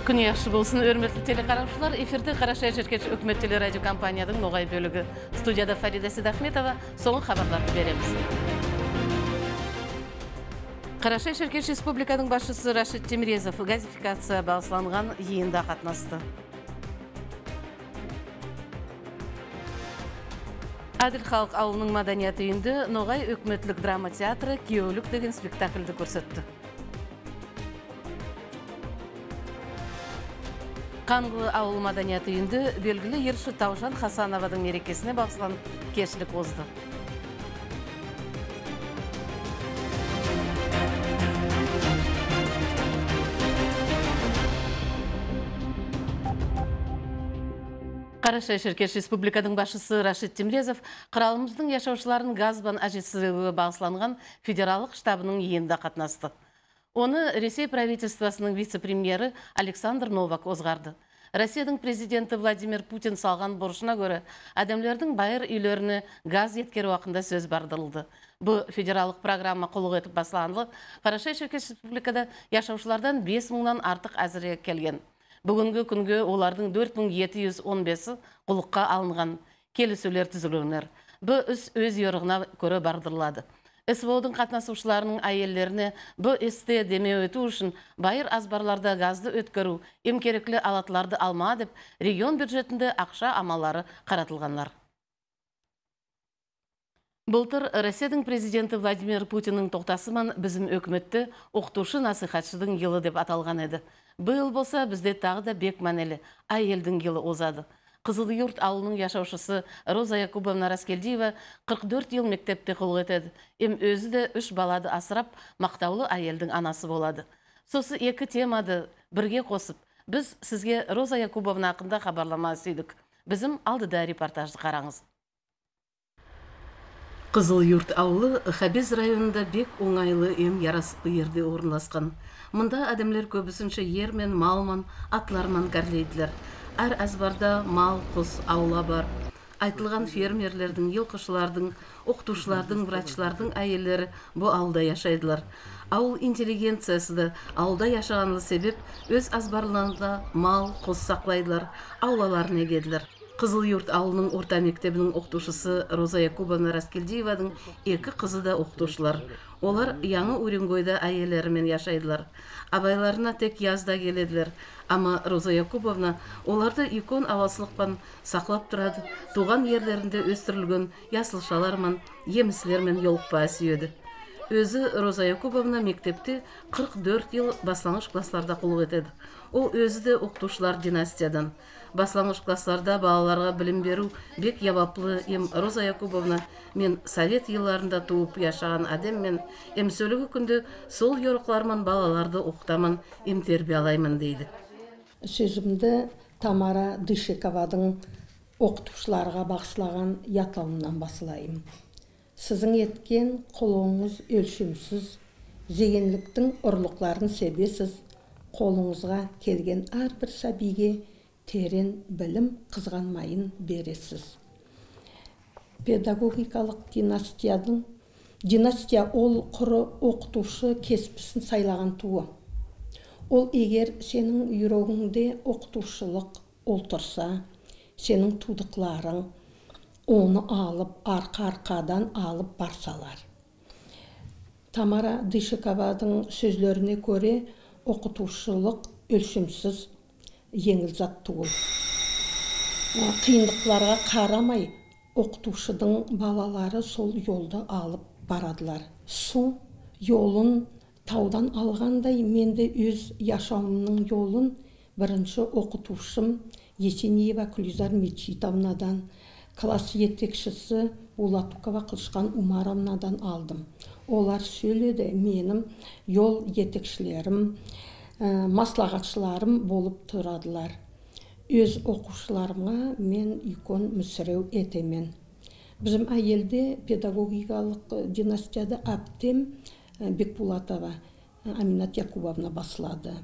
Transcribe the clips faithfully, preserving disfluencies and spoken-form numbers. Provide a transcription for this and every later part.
Күн яхшы болсын, өрмөтлі телекарамшылар. Эфирде Қарашай Шеркеш өкмет телерадио компанияның ноғай бөлігі. Студияда Фарида Сидахметова, соңын хабарларды береміз. Қарашай Шеркеш Республиканың басшысы Рашид Темирезов газификация бағысланған йиында қатнасты. Адил халық ауылының маданияты үйінде ноғай өкметлік драма театры «Күйеулік» деген спектакльді көрсетті. Қанғы ауыл маданияты үйінде белгілі ерші Таужан Хасановадың мерекесіне бағыслан кешілік озды. Қарашай Шеркеш Республиканың басшысы Рашид Темирезов қыралымыздың яшаушыларын газбан әжетсіздігі бағысланған федералық штабының йиында қатнасты. Оны Ресей правительствосының вице-премьері Александр Новак озғарды. Россияның президенті Владимир Путин салған борышына көрі, адамлардың байыр үйлеріне газ еткері уақында сөз бардылды. Бұл федералық программа құлық етіп басыланлы, Қарашай Шеркеш Республикада яшаушылардан бес мыңнан артық әзірге келген. Бүгінгі күнгі олардың төрт мың жеті жүз он бесі құлыққа алынған келісулер түзілінер. Бұл үс өз yorығына көрі бардырылады. СВО-дың қатнасушыларының әйелдеріне бұл істе деме өту үшін байыр азбарларда газды өткөру, емкеріклі алатларды алма деп, регион бюджетінде ақша амалары қаратылғанлар. Былтыр Россияның президенті Владимир Путиннің тоқтасыман бізім өкіметті оқытушы насихатшының елі деп аталған еді. Бұл болса бізде тағы да бек мәнелі әйелдің елі озады. Қызыл Юрт ауылының яшаушысы Роза Якубовна Раскелдиева қырық төрт ел мектепте құлық етеді. Ем өзі де үш балады асырап, мақтаулы әйелдің анасы болады. Сосы екі темады бірге қосып, біз сізге Роза Якубовна ақында хабарлама сүйдік. Бізім алдыда репортажды қараңыз. Қызыл Юрт ауылы Хабез районында бек оңайлы ем ярасықлы ерде орналасқан. Мұнда адамлер көбісінше ермен, малман, атларман кәрлейділер. Әр әзбарда мал, құс, аула бар. Айтылған фермерлердің, елқышылардың, оқытушылардың, врачлардың әйелері бұл ауылда яшайдылар. Ауыл интеллигенциясы да ауылда яшағанлы себеп өз азбарларында мал, құс сақлайдылар, аулаларын егеділер. Қызыл Юрт ауылының орта мектебінің оқытушысы Роза Якубовна Раскелдиеваның екі қызы да оқытушылар. Олар яңы Уренгойда әйелерімен яшайдылар. Абайларына тек язда келеділер. Ама Роза Якубовна оларды икон авасылықпан сақлап тұрады. Туған ерлерінде өстірілген ясылшалармен, еміслермен елықпа сүйеді. Өзі Роза Якубовна мектепте қырық төрт ел баслаңғыш классларда құлық етеді. Ол өзі де оқытушылар династиядан. Баслаңғыш классларда балаларға білім беру бек ябаплы. Ем Роза Якубовна мен совет елларында туып яшаған адаммен ем сөлігі күнде сол yorықларман балаларды оқытамын, ем тербе алаймын дейді. Сөзімді Тамара Дышековадың оқытушыларға бағыслаған ятлауынан басылайым. Сізің еткен қолыңыз өлшімсіз, зегенліктің ұрлықларын себесіз, қолыңызға келген әрбір сәбиге терен білім қызғанмайын бересіз. Педагогикалық династияның династия ол құры оқытушы кеспісін сайлаған туы. Ол егер сенің үйрегіңде оқытушылық олтырса, сенің тудықларың оны алып, арқа-арқадан алып барсалар. Тамара Дышекованың сөзлеріне көре оқытушылық өлшімсіз еңіл зат туыл. Қиындықларға қарамай, оқытушының балалары сол жолды алып барадылар. Су жолын таудан алғандай, менде өз яшауымның жолын бірінші оқытушым Есенеева Күлизар Мечитовнадан, класс етекшісі Улатукова Қылышқан Умаровнадан алдым. Олар сөйледі, менің жол етекшілерім, маслағатшыларым болып тұрадылар. Өз оқушыларыма мен икон мүсіреу етемен. Bizim әйелде педагогикалық династияда әптем Бекбулатова Аминат Якубовна басылады.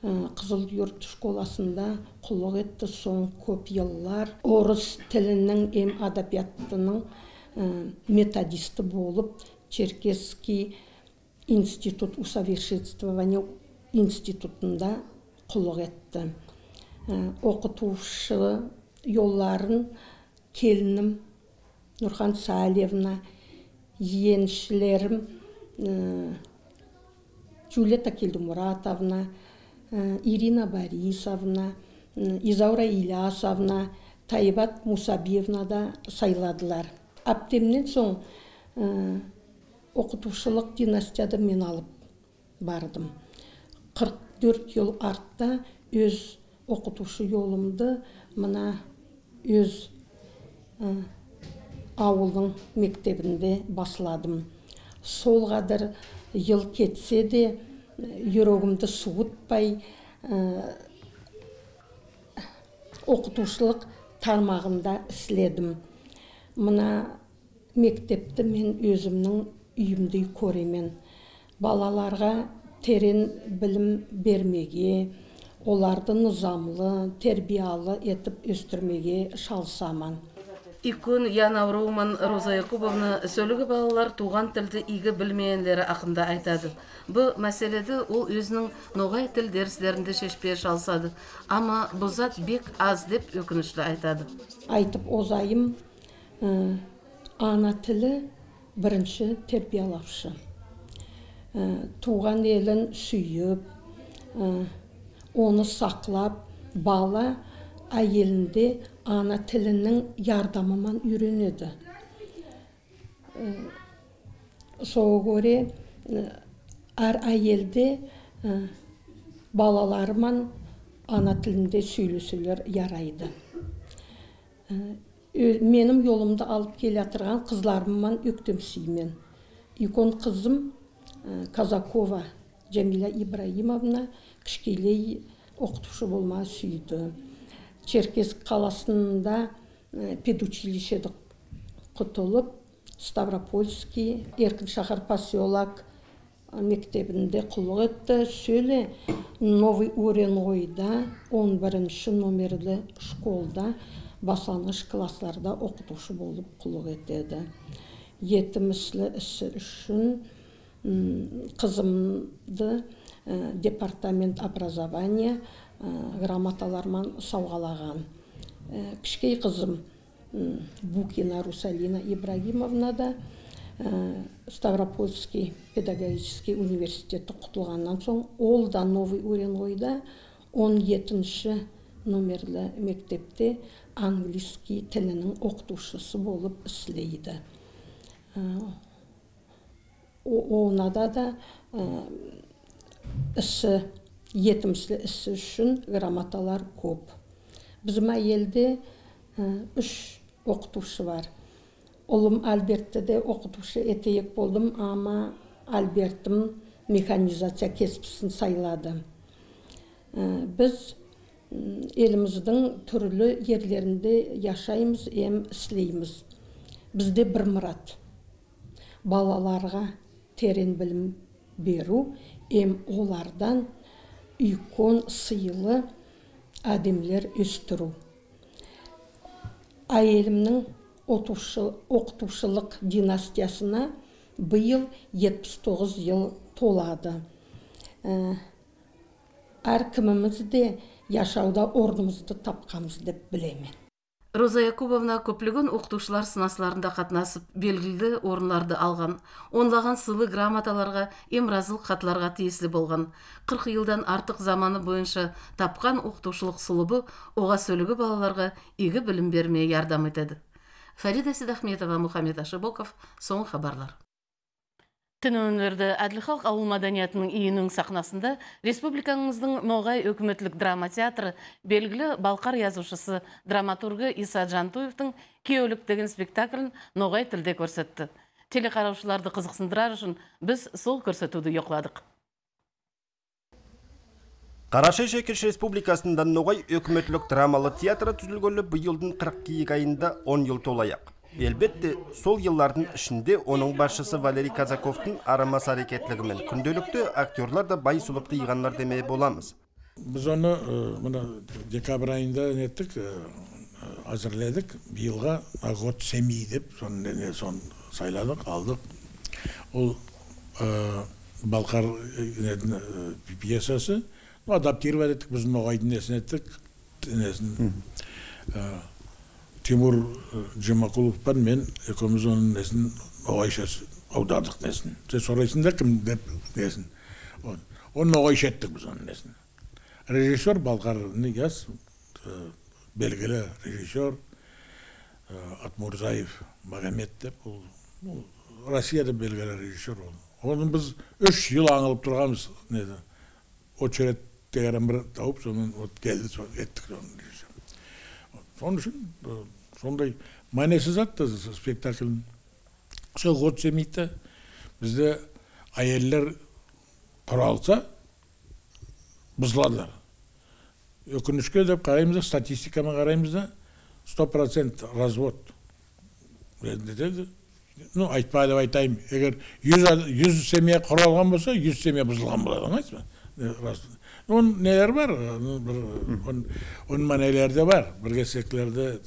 Қызыл Юрт школасында құлық етті, соң көп еллар орыс тілінің ем адабиятының методисті болып, Черкесский институт усовершенствования институтында құлық етті. Оқытушы yolların kelinim Nurhan Salevna, yeğenişlerim Julieta Keldumuratовна, Irina Borisovna, Izavra İlyasovna, Taybat Musabiyevna da sayladılar. Aptemden soң оқытушылық династияды мен алып бардым. қырық төрт yıl артта өз оқытушы yolumды мына өз ауылдың мектебінде басладым. Сол қадір yıl кетсе де жүрегімді суытпай оқытушылық тармағында іследім. Мына мектепті мен өзімнің үйімдей көремен. Балаларға терен білім бермеге, оларды нызамлы, тербиялы етіп өстірмеге шалсаман. Икун Яна Роуман Роза Якубовна сөйлігі балалар туған тілді игі білмейенлері ақында айтады. Бұл мәселеді ол өзінің ноғай тіл дәрістерінде шешпей шалсады. Ама бұл зат бек аз деп өкінішті айтады. Айтып озайым, ана тілі бірінші тербиялаушы. Туған елін сүйіп, оны сақлап, бала әйелінде ана тілінің ярдамымен үйренеді. Соға көре әр әйелде балаларымен ана тілінде сөйлесулер ярайды. Менің yolumda алып келе атырған қызларыммен өктемсеймен. Икон қызым Казакова Джамиля Ибраимовна кішкелей оқытушы болма сүйді. Черкесск қаласында педучилищеді құтылып, Ставропольский, Еркін шахар поселок мектебінде құлық етті. Сөйле Новый Уренгойда он бірінші номерлі школда баслангыч классларда оқытушы болып құлық етеді. Етіміслі ісі үшін қызымды департамент образования грамоталармен сауғалаған. Кішкей қызым Букина Русалина Ибрагимовна да Ставропольский педагогический университеті құтылғаннан соң, ол да Новый Уренгойда он жетінші номерлі мектепте английский тілінің оқытушысы болып іслейді. Онада да ісі, етімсі ісі үшін грамоталар көп. Bizim әйелде үш оқытушы бар. Олым Альбертті де оқытушы етейік болдым, ама Альбертім механизация кеспісін сайлады. Біз еліміздің түрлі ерлерінде яшаймыз, ем іслейміз. Бізде бір мұрат. Балаларға терен білім беру, ем олардан үйкон сыйлы әдемлер өстіру. Әйелімнің оқытушылық династиясына бұйыл жетпіс тоғыз yıl толады. Әркіміміз де яшауда орнымызды тапқамыз деп білемен. Роза Якубовна көплеген оқытушылар сынасларында қатынасып, белгілі орынларды алған, онлаған сылы грамоталарға, емразылық қатларға тиесілі болған. қырық yılдан артық заманы бойынша тапқан оқытушылық сұлыбы оға сөйлігі балаларға игі білім бермей ярдам етеді. Фарида Сидахметова, Мухаммед Ашибоков, соң хабарлар. Түнөнлерді Әділхалық ауыл маданиятының үйінің сахнасында республикаңыздың ноғай өкіметлік драма театры белгілі балқар язушысы драматургы Иса Жантуевтың «Кеулік» деген спектаклін ноғай тілде көрсетті. Телекараушыларды қызықсындырар үшін біз сол көрсетуді yoqладық. Қарашай Шекеш Республикасында ноғай өкіметлік драмалы театры түзілгөлі бұйылдың қырық екі айында он yıl толаяқ. Elbette сол yılların ішінде оның басшысы Валерий Казаковтың арамас әрекетлігімен күнделікті актерлар да бай сұлыпты иғанлар демей боламыз. Біз оны декабрь айында неттік, әзірледік. Биылға год семей деп сон сайладық, алдық. Ол Балқар пьесасы адаптировать еттік, біздің ноғайдың несін еттік, несін. Тимур Жемақұловпен мен екеуміз оның несін ноғайшасы аудардық несін. Сен сұрайсың да кім деп несін. Оны ноғайша еттік біз оның несін. Режиссер Балқар Нияз, белгілі режиссер, Атмурзаев Магомед деп, Россияда белгілі режиссер ол. Оны біз үш жыл аңылып тұрғанбыз, неді, очерет дегенен бір тауып, сонымен келді, еттік оның режиссер. Соның үшін, сондай мәнесіз атты спектаклін. Сол ғот семейті бізде әйелдер құралса, бұзыладылар. Өкінішке деп қараймыз да, статистикамен қараймыз да, сто процент развод. Ну, айтпай деп айтайым, егер жүз семья құралған болса, жүз семья бұзылған болады, аңайсыз ба? Оның нелер бар, оның мәнелер де бар, бірге секілерде,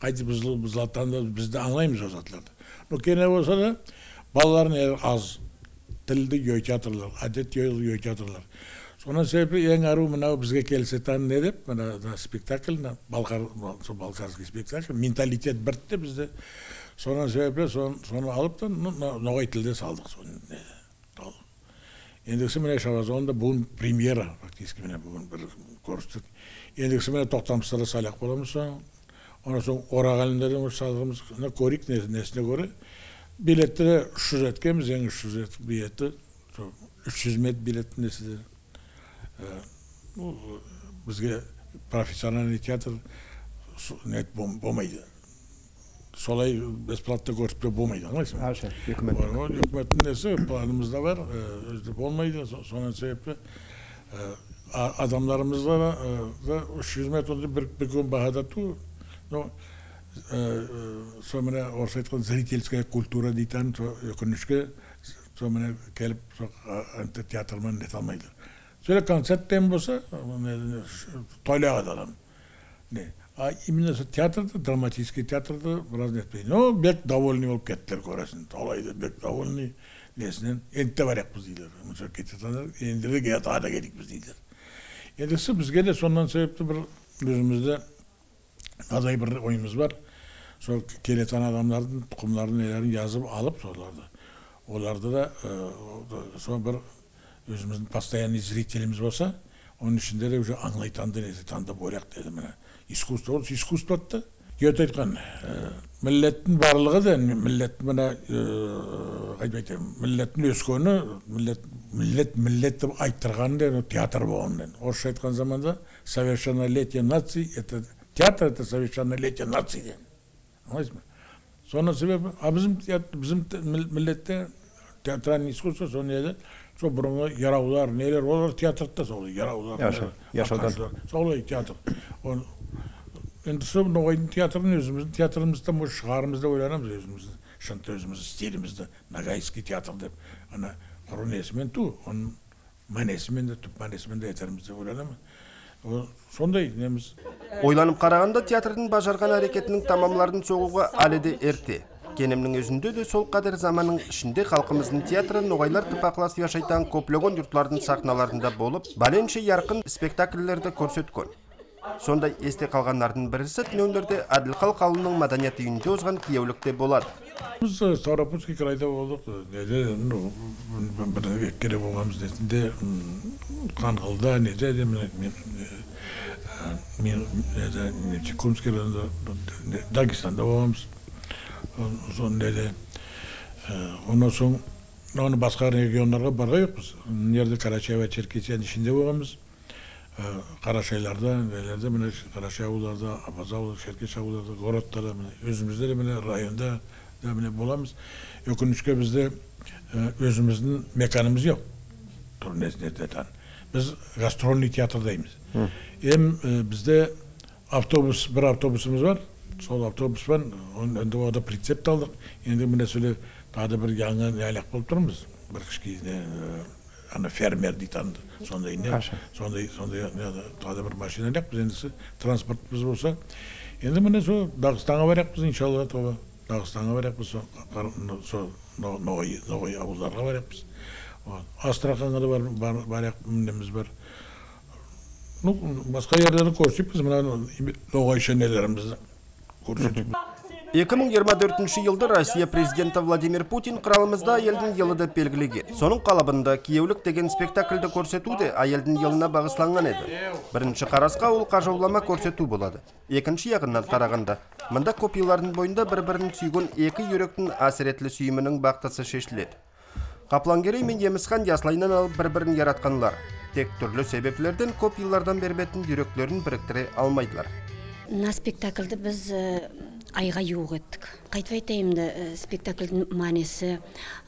қайты бұзылаттан да бізді аңлаймыз өзатларды. Но кене болса да, балаларын аз, тілді өйтятырлар, әдет өйтятырлар. Сонан себебі ең ару мынау бізге келсетан не деп, мына спектакль, балқарский спектакль, менталитет біртті бізде. Сонан себебі соны алып та ноғай тілде салдық. Ендігісі міне Шабазонда бүгін премьера, фактически міне бүгін бір көрістік. Ендігісі міне тоқтамыстары салақ боламыз соң. Онан соң орағалындарын салғымыз, көрік несіне көрі. Билеттері үш жүз еткеміз, ең үш жүз билетті, үш жүз мет билетті несіде. Бізге профессиональный театр нет болмайды. Солай бесплатно көрсетпе болмайды, аңлайсың ба? Үкіметтің несі планымызда бар, өзді болмайды. Сонан себепті адамдарымызға да үш жүз метрді бір күн бағада ту. Сол міне орыс айтқан зрительская культура дейтін өкінішке сол міне келіп театрмен нет алмайды. Сөйле концерттен болса, тойлаға да адам. А именно театрда, драматический театрда біраз нетпейді. Но бек довольный болып кеттілер көресін. Толайды бек довольный несінен. Ентте барек біз дейлер. Мұнша кететандар, ендірді геятада келік біз дейлер. Ендісі бізге де сондан себепті бір өзімізде азай бір ойымыз бар. Сол келетан адамлардың тұқымларын нелерін жазып алып соларды. Оларды да сол бір өзіміздің постоянный зрителіміз болса, оның ішінде де уже аңлайтанды несі таңдап ойлақ деді міне. Искусство, ол искусство атты. Гете айтқан, миллеттің барлығы да, миллеттің мына, қайтып айтайын, миллеттің өскені, миллет, миллет деп айттырған да, театр болған. Орысша айтқан заманда, совершеннолетие наций, это театр, это совершеннолетие наций ден. Аңлайсыз ба? Соның себебі, а біздің миллетте театральный искусство, соны еді, сол бұрынғы яраулар, нелер, олар театрда сол, яраулар, солай театр. Енді сол ноғайдың театрын өзіміздің театрымызда шығарымызда ойланамыз өзімізді, шынты өзімізді, стилімізді, нагайский театр деп, ана құру несімен ту, оның мәнесімен де, түп мәнесімен де етерімізді ойланамыз. Сондай неміз. Ойланып қарағанда театрдың бажарған әрекетінің тамамларын соғуға әлі де ерте. Кенемнің өзінде де сол қадір заманның ішінде халқымыздың театры ноғайлар тыпақлас яшайтан көплеген юртлардың сахналарында болып, бәленше ярқын спектакльлерді көрсеткен. Сондай есте қалғандардың бірісі түнеулерде Әділқал қауылының мәдениет үйінде озған киеулікте болады. Біз Ставропольский крайда болдық. Неде, бір еккере болғамыз несінде, Қанғылда, неде, мен Чекумский районда, Дагестанда болғамыз. Соны неде, онан соң, оны басқа регионларға барға жоқпыз. Нерде Карачаева, Черкесияның ішінде болғамыз. Қарашайларда, нелерде, міне Қарашай ауылдарда, Абаз ауылы, Шеркеш ауылдарда, городтарда, өзімізде де міне районда міне боламыз. Өкінішке бізде өзіміздің меканымыз жоқ. Біз гастрольный театрдаймыз. Ем бізде автобус, бір автобусымыз бар. Сол автобуспен, енді ода прицепт алдық. Енді міне сөйле тағы бір яңы нәлек болып тұрмыз. Бір кішкейіне ана фермер дейтанды. Сондай не, сондай, сондай, тағы бір машина әлек, біз ендісі транспортымыз болса. Енді міне сол Дағыстанға барақпыз, иншалла, тоға. Дағыстанға барақпыз, сол Ноғай ауылдарға барақпыз. Астраханға да барақ, мінеміз бар. Ну, басқа yerlerden көрсетіп, біз мына ноғайша нелерімізді көрсетіп. эки миң жыйырма төртүнчү жылда Россия президенті Владимир Путин қыралымызда айелдің елі деп белгілеген. Соның қалабында киеулік деген спектакльді көрсету де айелдің еліне бағысланған еді. Бірінші қарасқа ол қажаулама көрсету болады. Екінші яғынан қарағанда, мында копиялардың бойында бір-бірін сүйген екі үйректің әсіретлі сүйімінің бақтасы шешіледі. Қаплангерей мен Емісхан яслайынан алып бір-бірін яратқанлар. Тек түрлі себеплерден копиялардан бербетін үйректерін біріктіре алмайдылар. На спектакльді біз айға юық еттік. Қайтып айтайымды, спектакльдің мәнесі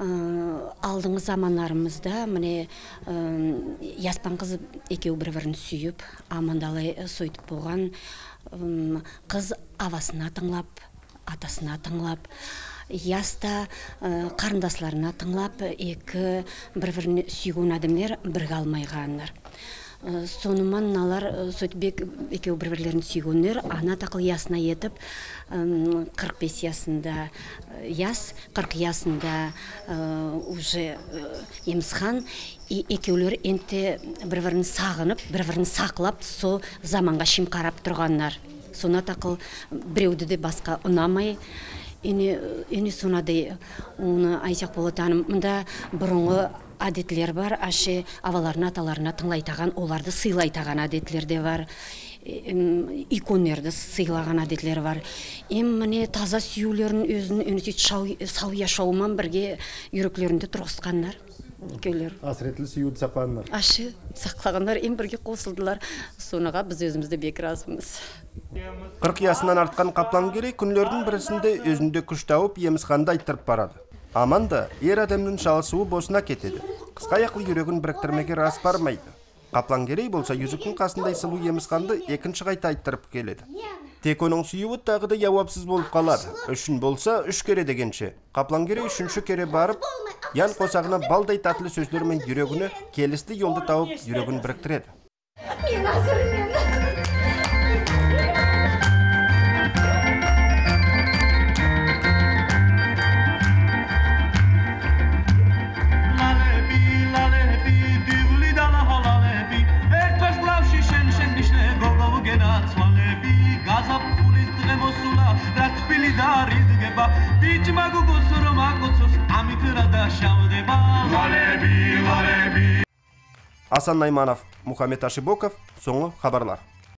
алдыңғы замандарымызда міне яспан қыз екеу бір-бірін сүйіп, амандалай сойтып болған, қыз авасына тыңлап, атасына тыңлап, яста қарындасларына тыңлап, екі бір-бірін сүйген адамдар бірге алмайғандар. Соныман налар сөйтбек екеу бір-бірлерін сүйгендер, ана тақыл ясына етіп, қырық бес ясында яс, қырық ясында уже Емісхан, екеулер енте бір-бірін сағынып, бір-бірін сақлап, со заманға шим қарап тұрғандар. Сона тақыл біреуді де басқа ұнамай, Ені сонады оны айтақ болатаным. Мұнда бұрынғы әдетлер бар, ашы аваларына, аталарына тыңлайтаған, оларды сыйлайтаған әдетлер де бар. Иконерді сыйлаған әдетлер бар. Ем міне таза сүйеулерін өзінің өнісет сау яшауымен бірге үйреклерінде тұрғысқандар. Асыретлі сүйуді сақлағандар. Ашы сақлағандар, ем бірге қосылдылар. Соныға біз өзімізді бекіразымыз. қырық ясынан артқан Қаплангерей күнлердің бірісінде өзінде күш тауып Емісханды айттырып барады. Аманда ер адамның шалысуы босына кетеді. Қысқа аяқлы жүрегін біріктірмеге рас бармайды. Қаплангерей болса yüzіктің қасындай сұлу Емісханды екінші қайта айттырып келеді. Тек оның сүйуі тағы да жауапсыз болып қалады. Үшін болса үш кере дегенше. Қаплангерей үшінші кере барып, ян қосағына балдай татлы сөздермен жүрегіні келісті жолды тауып жүрегін біріктіреді. Мен азырмен. Асан Найманов, Мухаммед Ашибоков, соңғы хабарлар.